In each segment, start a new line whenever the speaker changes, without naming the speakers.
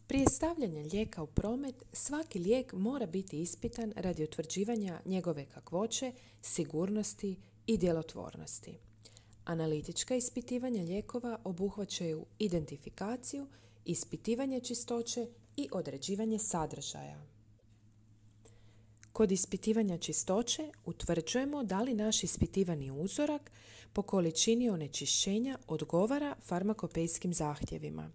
Prije stavljanja lijeka u promet, svaki lijek mora biti ispitan radi utvrđivanja njegove kakvoće, sigurnosti i djelotvornosti. Analitička ispitivanja lijekova obuhvaćaju identifikaciju, ispitivanje čistoće i određivanje sadržaja. Kod ispitivanja čistoće utvrđujemo da li naš ispitivani uzorak po količini onečišćenja odgovara farmakopejskim zahtjevima.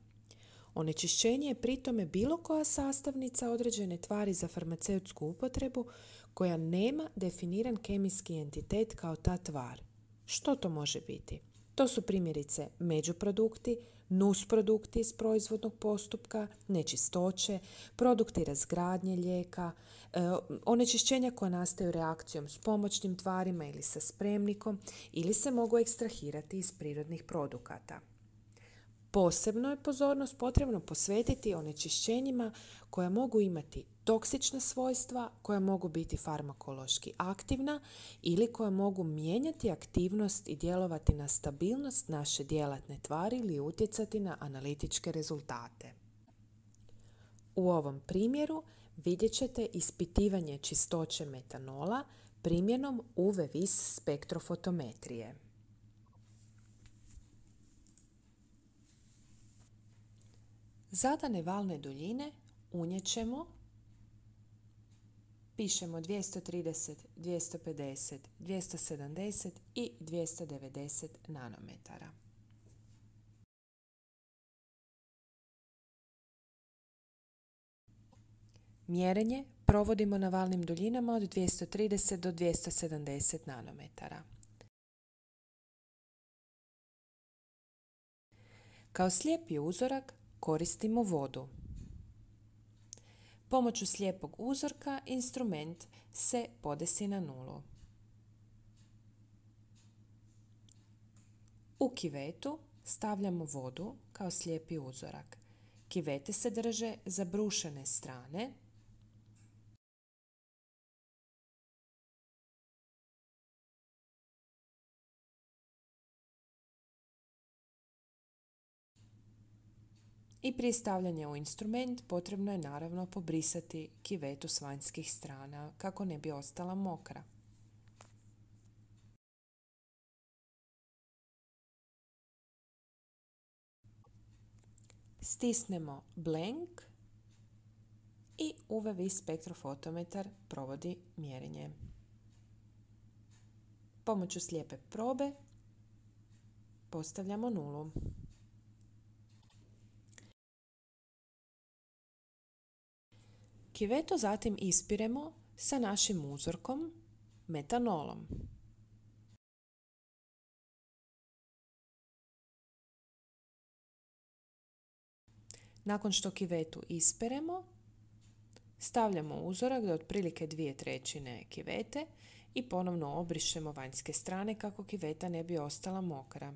Onečišćenje je pri tome bilo koja sastavnica određene tvari za farmaceutsku upotrebu koja nema definiran kemijski entitet kao ta tvar. Što to može biti? To su primjerice međuprodukti, nusprodukti iz proizvodnog postupka, nečistoće, produkti razgradnje lijeka, onečišćenja koja nastaju reakcijom s pomoćnim tvarima ili sa spremnikom ili se mogu ekstrahirati iz prirodnih produkata. Posebno je pozornost potrebno posvetiti onečišćenjima koja mogu imati toksična svojstva, koja mogu biti farmakološki aktivna ili koja mogu mijenjati aktivnost i djelovati na stabilnost naše djelatne tvari ili utjecati na analitičke rezultate. U ovom primjeru vidjet ćete ispitivanje čistoće metanola primjenom UV-vis spektrofotometrije. Zadane valne duljine unijet ćemo, pišemo 230, 250, 270 i 290 nanometara. Mjerenje provodimo na valnim duljinama od 230 do 270 nanometara. Kao slijepi uzorak koristimo vodu. Pomoću slijepog uzorka instrument se podesi na nulu. U kivetu stavljamo vodu kao slijepi uzorak. Kivete se drže za brušene strane. I prije stavljanja u instrument potrebno je naravno pobrisati kivetu s vanjskih strana kako ne bi ostala mokra. Stisnemo blank i UV-vis spektrofotometar provodi mjerenje. Pomoću slijepe probe postavljamo nulu. Kivetu zatim ispiremo sa našim uzorkom metanolom. Nakon što kivetu isperemo, stavljamo uzorak do otprilike 2/3 kivete i ponovno obrišemo vanjske strane kako kiveta ne bi ostala mokra.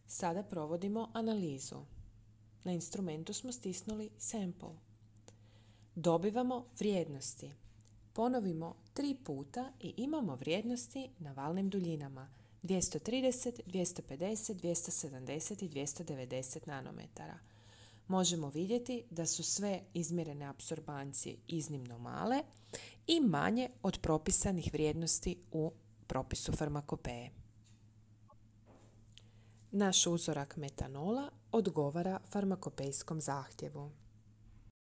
Sada provodimo analizu. Na instrumentu smo stisnuli sample. Dobivamo vrijednosti. Ponovimo 3 puta i imamo vrijednosti na valnim duljinama 230, 250, 270 i 290 nanometara. Možemo vidjeti da su sve izmjerene apsorbancije iznimno male i manje od propisanih vrijednosti u propisu farmakopeje. Naš uzorak metanola odgovara farmakopejskom zahtjevu.